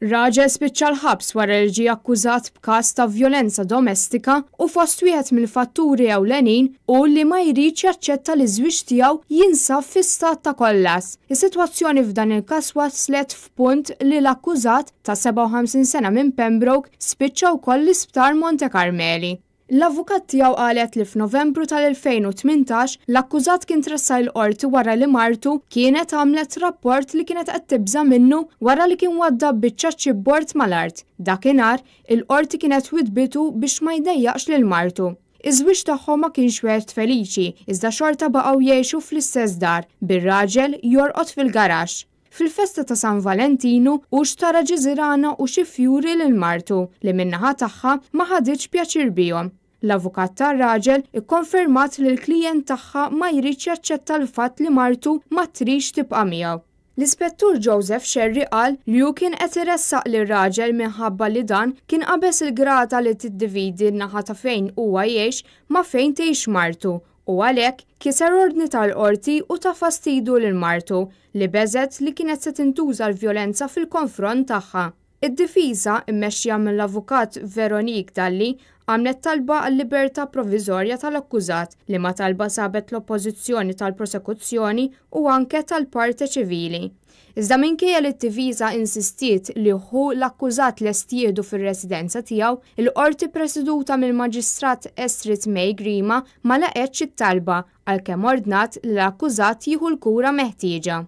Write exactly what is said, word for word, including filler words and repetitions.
Raġel spiċċa l-ħabs wara li ġie akkużat b'każ ta' vjolenza domestika u fost wieħed mill-fatturi ewlenin hu li ma jridx jaċċetta li ż-żwieġ tiegħu jinsab fi stat ta' kollass. Is-sitwazzjoni f'dan il-każ waslet f'punt li l-akkużat ta' sebgħa u ħamsin sena minn Pembroke spiċċa wkoll l-Isptar Monte Carmeli. L-avukat tiegħu qalet li f'Novembru tal-elfejn u tmintax l-akkużat kien tressaq il-qorti wara li martu kienet għamlet rapport li kienet qed tibża' minnu wara li kien waddab biċċa chipboard mal-art. Dakinhar il-qorti kienet widbitu biex ma jdejjaqx lil martu. Iż-żwieġ tagħhom ma kienx wieħed feliċi, iżda xorta baqgħu jgħixu fl-istess dar, bir-raġel jorqod fil-garaxx. Fil-festa ta' San Valentinu hu xtara ġiżirana u xi fjuri lil martu li min-naħa tagħha ma ħaditx pjaċir bihom. L-avukat tar-raġel ikkonfermat li l-klijent tagħha ma jridx jaċċetta l-fatt li martu ma tridx tibqa' miegħu. L-Ispettur Joseph Scerri qal li hu kien qed iressaq lir-raġel minħabba li dan kien qabeż il-grata li tiddividi n-naħa ta' fejn huwa jgħix ma' fejn tgħix martu u għalhekk kiser ordni tal-qorti u ta fastidu lil martu li beżgħet li kienet se tintuża l-vjolenza fil-konfront tagħha. Id-difiża, immexxija mill-avukat Veronique Dalli, għamlet talba għal-libertà provviżorja tal-akkużat, liema talba sabet l-oppożizzjoni tal-prosekuzzjoni u anke tal-parte ċivili. Iżda minkejja li d-difiża insistiet li ħu l-akkużat lest jieħdu fir-residenza tiegħu, il-qorti presiduta mill-Maġistrat Estrid May Grima ma laqgħetx it-talba, għalkemm ordnat li l-akkużat jieħu l-kura meħtieġa.